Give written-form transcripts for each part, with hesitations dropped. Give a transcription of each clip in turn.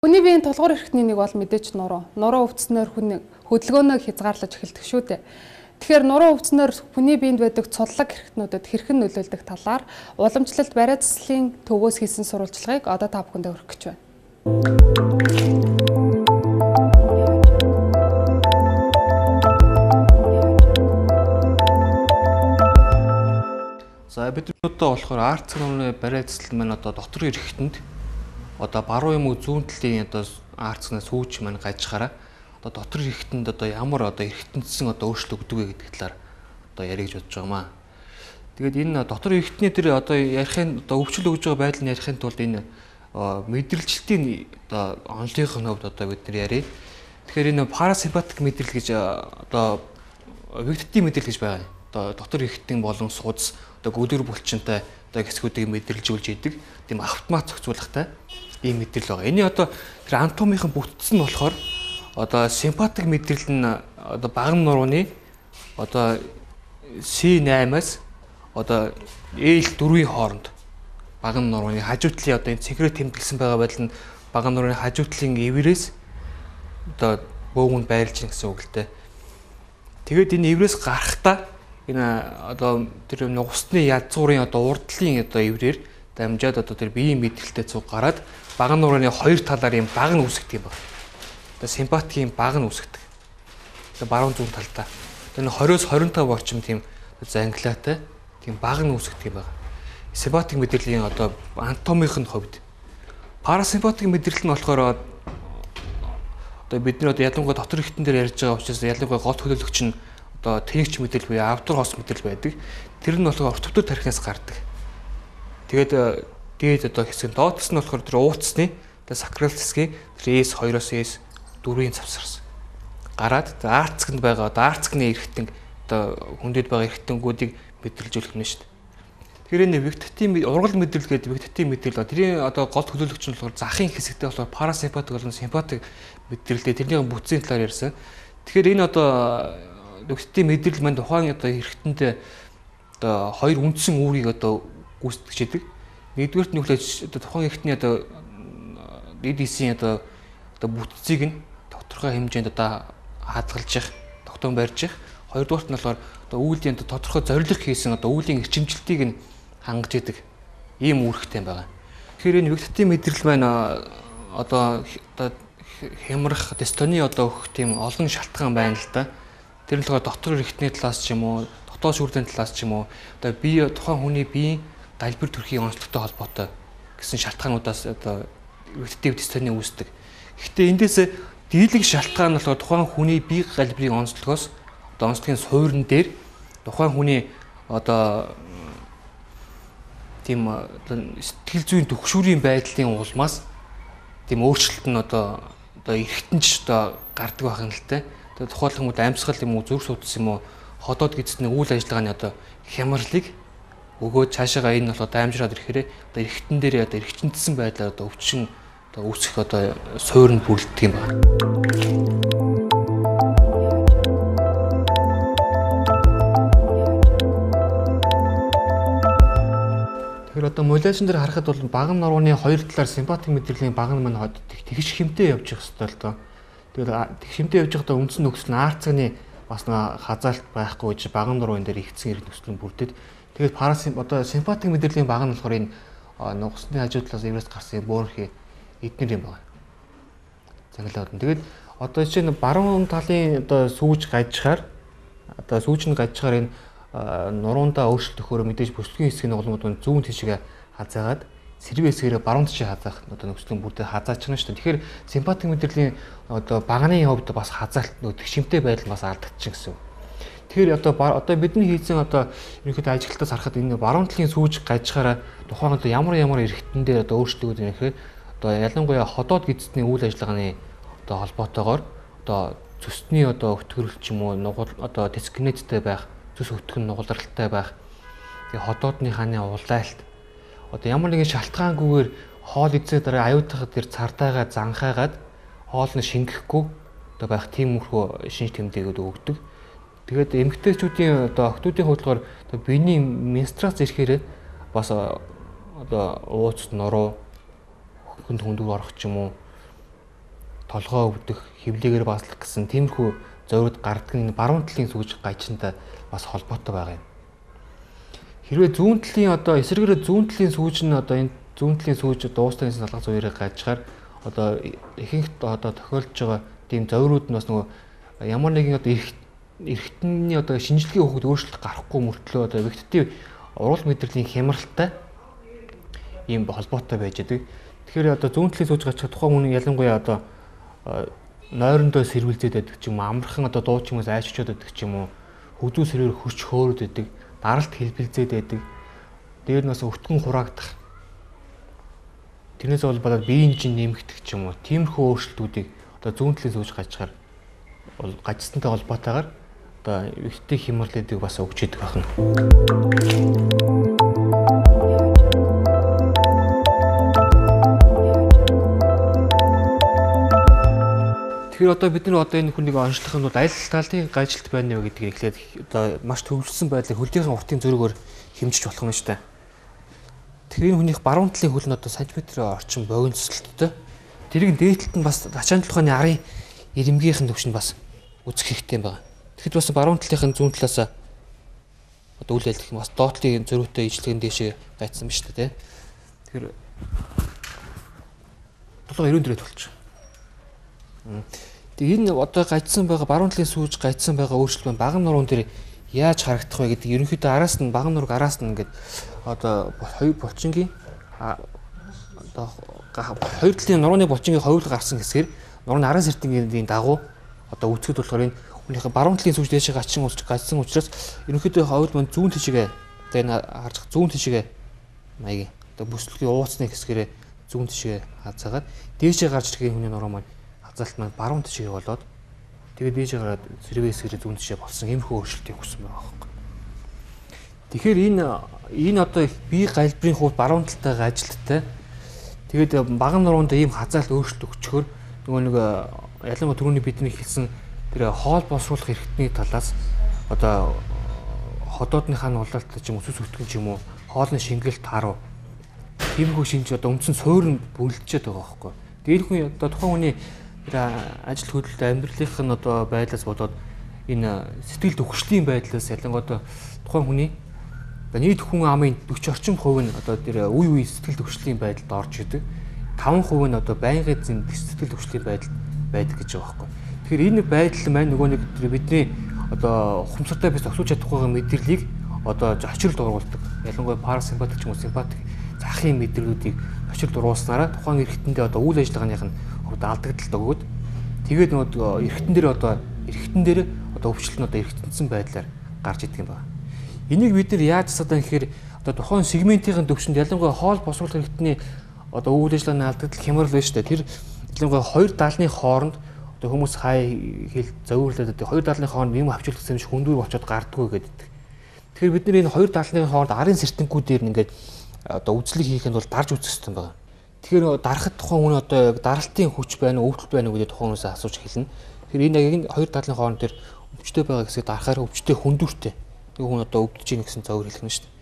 Хүний биеийн тулгуур эрхтний нэг бол мэдээж нуруу. Нуруу өвдснөөр хүний хөдөлгөөнөө хязгаарлаж эхэлдэг шүү дээ. Тэгэхээр нуруу өвдснөөр хүний биед байдаг цудлаг эрхтнүүдэд хэрхэн нөлөөлдөг талаар уламжлалт бариа заслын төвөөс хийсэн сурвалжлагыг одоо та бүхэндээ хүргэх гэж байна. За бид одоо болохоор арц нурууны бариа засал маань одоо дотор эрхтэнд одоо баруун юм уу зүүн талын одоо арцнаас сүүж маань гажихаараа одоо дотор эрхтэнд одоо ямар одоо эрхтэнцсэн одоо өөрчлөлт өгдөг вэ гэдэг талаар одоо ярих гэж бодож байгаамаа. Тэгээд энэ дотор эрхтний тэр одоо ярихын одоо өвчлөл өгж байгаа байдлыг ярихын тулд энэ мэдрэлжилтийн одоо онолынхын хувьд одоо бид нар ярив. Тэгэхээр энэ парасимпатик мэдрэл гэж одоо вегетатив мэдрэл гэж байгаа. Одоо дотор эрхтэн болон судас одоо гүдэр булчинтай одоо хэсгүүдийг мэдрэлжүүлж идэг. Тийм автомат зохицуулгатай ийм мэдрэл байгаа. Эний одоо тэр анатомийн бүтцэн нь болохоор одоо симпатик мэдрэл нь одоо багам нурууны одоо C8-аас одоо L4-ийн хооронд багам нурууны хажуу талын одоо энэ цэгрээ тэмдэглэсэн байгаа байдал нь багам нурууны хажуу талын эврээс одоо бөөгөнд байрлаж ийн гэсэн үг л дээ. Тэгээд энэ эврээс гарахдаа энэ одоо тэр нугасны язгуурын одоо урдлын одоо эврээр дамжаад одоо тэр биеийн мэдрэлтэй цуг гараад багам нурууны хоёр талаар юм баг нь үүсгдэг юм байна. Одоо симпатикийн баг нь үүсгдэг. Одоо баруун зүүн талдаа. Энэ 20-с 25 орчим тийм зангилаатай тийм баг нь үүсгдэг юм байна. Симпатик мэдрэлийн одоо анатомийн хувьд парасимпатик мэдрэл нь болохоор одоо бид нар одоо ялангуяа дотор эрхтэн дээр ярьж байгаа учраас ялангуяа гол төлөөлөгч нь одоо тэнэгч мэдрэл буюу авдар хос мэдрэл байдаг. Тэр нь болохоор ортовтор тархинаас гардаг. Тэгээд дээд одоо хэсэг нь доотс нь болохоор тэр ууцсны одоо сакрал засгийн тэр S2-оос S4-ийн завсарсан. Гараад арцгэнд байгаа одоо арцгны эрхтэн одоо хүндэд байгаа эрхтэнгүүдийг мэдрэлжүүлэх нь шүү дээ. Тэгэхээр энэ вегетатив ургал мэдрэл гэдэг вегетатив мэдрэл тэрийн одоо гол төлөөлөгч нь болохоор захын хэсэгтэй болохоор парасимпатик болон симпатик мэдрэлтэй тэрний бүтцийн талаар ярьсан. Тэгэхээр энэ одоо вегетатив мэдрэл маань тухайн одоо эрхтэнд одоо хоёр үндсэн үүрийг одоо гүйцэтгэж идэг. Нэгдүгээрт нь хүлээж одоо тухайн эрхтний одоо DDC-ийн одоо бүтцийг нь тодорхой хэмжээнд одоо хадгалж явах, тогтоон барьж явах. Хоёрдугаарт нь болохоор одоо үүлийн тодорхой зорилго хийсэн одоо үүлийн эрчимжилтийг нь хангаж идэг ийм үүрэгтэй байгаа. Тэгэхээр энэ вегетатив мэдрэл маань одоо хямрах, дистони одоо өгөх тийм олон шалтгаан байна л да. Тэр нь болохоор дотор эрхтний талаас ч юм уу, дотоод шүүрлийн талаас ч юм уу одоо бие тухайн хүний биеийн далбар төрхийн онцлогтой холбоотой гэсэн шалтгаануудаас одоо вегетатив дистони үүсдэг. Гэхдээ эндээс дийлэнх шалтгаан нь болохоор тухайн хүний бие галбирын онцлогоос одоо онцлогийн суурин дээр тухайн хүний одоо тийм сэтгэл зүйн төгшүүрийн байдлын улмаас тийм өөрчлөлт нь одоо эргэтэнж одоо гардаг байх юм л те. Тэгээд тухайлх юм уу амьсгал юм уу зүрх судас юм уу ходоод гидсний үйл ажиллагааны одоо хямралыг өгөөд цаашаага энэ бол одоо амжираад ирэхээр одоо эргэтэн дээр одоо эргчнэдсэн байдлаар одоо өвчин одоо үүсэх одоо суурин бүрэлдэх юм байна. Тэгэхээр одоо модуляцийн дээр харахад бол багам нурууны хоёр талаар симпатик мэдрэлийн баг нь маань тэгш хэмтэй явж явах хэрэгтэй л доо. Тэгээд тэгш хэмтэй явж байхдаа үндсэн нөхцөл нь арцганы бас нэг хазаалт байхгүй гэж багам нурууны дээр ихсэн эрх нөхцөл нь бүрдээд тэгээд одоо симпатик мэдрэлийн баг нь болохоор энэ нугасны хажуу талаас эврээс гарсан бөөрхий эднэр юм байна. Цаглаад. Тэгээд одоо чинь баруун талын одоо сүүж гажихаар одоо сүүж нь гажихаар энэ нуруундаа өөрчлөлт өгөхөөр мэдээж бүслэгийн хэсгийн голомууд нь зүүн тишгээ хазаагаад сэрвээ хэсгээрээ баруун тишээ хазаах одоо нөхцөлийн бүрдээ хазаачна шүү дээ. Тэгэхээр симпатик мэдрэлийн одоо баганы хувьд бас хазаалт нөтг шимтэй байдал бас алдагдчихна гэсэн. Тэгэхээр одоо бидний хийсэн одоо ерөнхийдөө ажиглалтаас харахад энэ баруун талын сүүж гажихаараа тухайн одоо ямар эрхтэн дээр одоо өөрчлөлт өгөх юм одоо ялангуяа ходоод гидсний үйл ажиллагааны одоо холбоотойгоор одоо цөсний одоо өтгөрөл ч юм уу нугал одоо дискинеттэй байх, цөс өтгөн нугалралтай байх. Тэгээ ходоодны хааны улайлт одоо ямар нэгэн шалтгаангүйгээр хоол эзээ дараа аюутахад тэр цартайгаа занхаагаад хоол нь шингэхгүй одоо байх тиймэрхүү шинж тэмдээгүүд өгдөг. Тэгээд эмэгтэйчүүдийн одоо охтуудын хөдөлгөөр одоо биений менструац ирэхээр бас одоо ууц нуруу хүнд хүндүр орох ч юм уу толгоо өвдөх, хөвлөгээр бааслах гэсэн тиймэрхүү зориуд гардаг энэ баруун талын сүүж гажинтай бас холбоотой байгаа юм. Хэрвээ зүүн талын одоо эсрэгээр зүүн талын сүүж нь одоо энэ зүүн талын сүүж дуустал салгах зүйрээ гажихаар одоо ихэнх одоо тохиолдож байгаа тийм зориуд нь бас нөгөө ямар нэгэн одоо эргэтний одоо шинжилгээ өгөхөд өөрчлөлт гарахгүй мөртлөө одоо вегетатив урал мэдрэлийн хямралтай ийм холбоотой байж байгаа. Тэгэхээр одоо зүүн талын сүүж гажих тухайн хүн ялангуяа одоо нойрондоо сэрвэлзээд байдаг ч юм уу, амархан одоо дуу чимээс айччод байдаг ч юм уу, хөдөө сэрвэр хөрч хөөрөд байдаг, даралт хэлбэлзээд байдаг. Дээр нь бас өвтгөн хураагдах. Тэрнээс болоод биеийн жин нэмэгдэх ч юм уу, тиймэрхүү өөрчлөлтүүдийг одоо зүүн талын сүүж гажихаар гажсантай холбоотойгоор одоо вегетатив хямралуудыг бас өгч идэг байна. Тэгэхээр одоо бид нар одоо энэ хүнийг онцлохын тулд аль талын гажлт байна вэ гэдгийг эхлээд одоо маш төвлөрсөн байдлыг хөлийнхэн уртын зөрөгөөр хэмжиж болох нь шүү дээ. Тэгэхээр энэ хүнийх баруун талын хөл нь одоо сантиметрийн орчим богиносолттой. Тэрийг дээдлэлт нь бас ачаан толгойн арын ирэмгийнхэн төвшөнд бас үзэх хэрэгтэй байна. Тэгэхэд бас баруун талынхын зүүн талаас одоо үйл ажиллах бас доотлын зөрүүтэй ижлэгэн дээшээ гайцсан ба шүү дээ. Тэгэхээр толгой 90 дээрээ тулчих. Тэгээ энэ одоо гажсан байгаа баруун талын сүүж гажсан байгаа өөрчлөлт нь баган нуруунд дээр яаж харагдах вэ гэдэг ерөнхийдөө араас нь баган нураг араас нь ингээд одоо хоёр булчингийн одоо хоёр талын нурууны булчингийн хоёулаа гарсан хэсгээр нурууны араас эртэнгийн дагуу одоо үүсгэд болохоор энэ хүнийхээ баруун талын сүүж дээшээ гажсан учраас ерөнхийдөө хоёул манд зүүн тишгээ одоо энэ харж зүүн тишгээ маягийн одоо бүслэгийн ууцны хэсгээрээ зүүн тишгээ хазаагаад дээшээ гарч ирэхин хүний нуруу маань хазаалт маань баруун тишгээ болоод тэгээд дээшээ гараад сэрвээ хэсгээрээ зүүн тишгээ болсон иймэрхүү өөрчлөлтийг өгсөн байгаа байхгүй. Тэгэхээр энэ одоо бие галбирын хувьд баруун талтай ажилттай тэгээд баган нуруунд ийм хазаалт өөрчлөлт өгчхөөр нөгөө нэг ялангуяа түрүүний бидний хэлсэн тэр хоол боловсруулах эрхтний талаас одоо ходоодныхаа нуулалт ч юм уу сүс өтгөн ч юм уу хоолны шингэлт харуу тиймэрхүү шинж одоо үндсэн суурь нь бүлдчихэд байгаа байхгүй. Тэгээд хүн одоо тухайн хүний тэр ажил хөдөлთა амьдралынх нь одоо байдлаас болоод энэ сэтгэл төвхшлийн байдлаас ялангуяа одоо тухайн хүний одоо нийт хүн амын 40 орчим хувь нь одоо тэр үе сэтгэл төвхшлийн байдалд орж идэг. 5% нь одоо байнгын сэтгэл төвшлийн байдал байдаг гэж байгаа байхгүй. Тэгэхээр энэ байдал маань нөгөө нэг бидний одоо ухамсартай бис өсөж чадахгүй мэдрэлийг одоо зочролд оруулдаг. Ялангуяа парасимпатик ч юм уу симпатик захын мэдрэлүүдийг зочролд оруулснараа тухайн эргэтэндээ одоо үйл ажиллагааных нь алдагдaltaд өгөөд тэгээд нөгөө эргэтэн дээр одоо өвчлөлт нь одоо эргэтэнсэн байдлаар гарч идэг юм байна. Энийг бид нар яаж засаад байгаа гэхээр одоо тухайн сегментийн төвшөнд ялангуяа хоол босруулах эргэтний одоо үйл ажиллагааны алдагдал хямрал байна шүү дээ. Тэр ялангуяа хоёр даалны хооронд одоо хүмүүс хай хэл зовирлаад одоо хоёр даалны хооронд юм авчруулах юм шиг хүндүүр болчиход гардггүй гэдэг. Тэгэхээр бид нар энэ хоёр даалны хооронд арын сэртэнгүүдээр ингээд одоо үзлэг хийхэд бол дарж үзэх хэрэгтэй байна. Тэгэхээр дарахад тухайн хүн одоо даралтын хүч байна уу, өвдөл байна уу гэдэг тухайн хүнээс асууж хэлнэ. Тэгэхээр энэ яг энэ хоёр даалны хооронд дээр өвчтөй байгаа гэсээ дарахаар өвчтөй хүндүүртэй. Нэг хүн одоо өвдөж ийн гэсэн зөвөр хэлэх нь шүү дээ.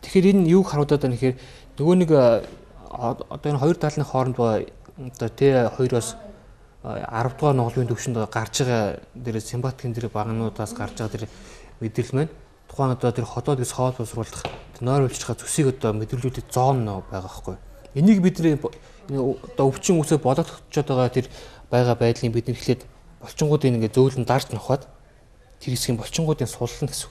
Тэгэхээр энэ юуг харуулдаг вэ гэхээр нөгөө нэг одоо энэ хоёр даалны хооронд одоо Т2-оос 10 дугаар нугалын төвшөнд гарч байгаа дээр симпатикийн дээр багнуудаас гарч байгаа тэр мэдрэл маань тухайн одоо тэр ходоод ис хоол боловсруулах нойруулж байгаа зүсийг одоо мэдрэлүүдэд зоон байгаа байхгүй. Энийг бид одоо өвчин үсээ болоодчод байгаа тэр байгаа байдлыг бид нэхлээд болчингуудыг ингээд зөөлөн дарж нухаад тэр хэсгийн болчингуудыг суллана гэсэн.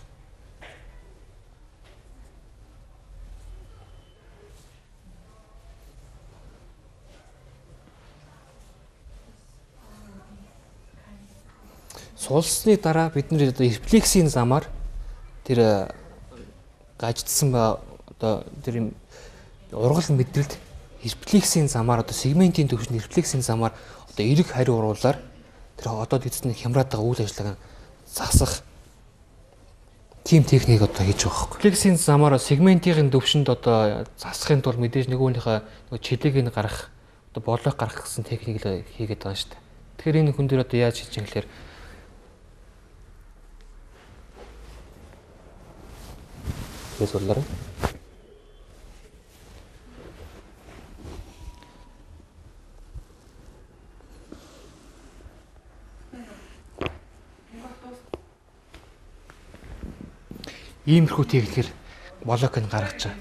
Сулсны дараа бид нэр одоо рефлексийн замаар тэр гаждсан ба одоо тэр ургал мэдрэлд рефлексийн замаар одоо сегментийн төвшөнд рефлексийн замаар одоо эрэг хариу уруулаар тэр одоод эцэст нь хямраад байгаа үйл ажиллагааг засах тийм техник одоо хийж байгаа хөөх. Рефлексийн замаар сегментийн төвшөнд одоо засахын тулд мэдээж нөгөөнийхөө чилээг нь гаргах одоо боолойг гаргах гэсэн техникийг хийгээд байгаа шүү дээ. Тэгэхээр энэ хүн дээр одоо яаж хийж юм гэхээр сурлаарай. иймэрхүү техникээр блокийг гаргаж байгаа.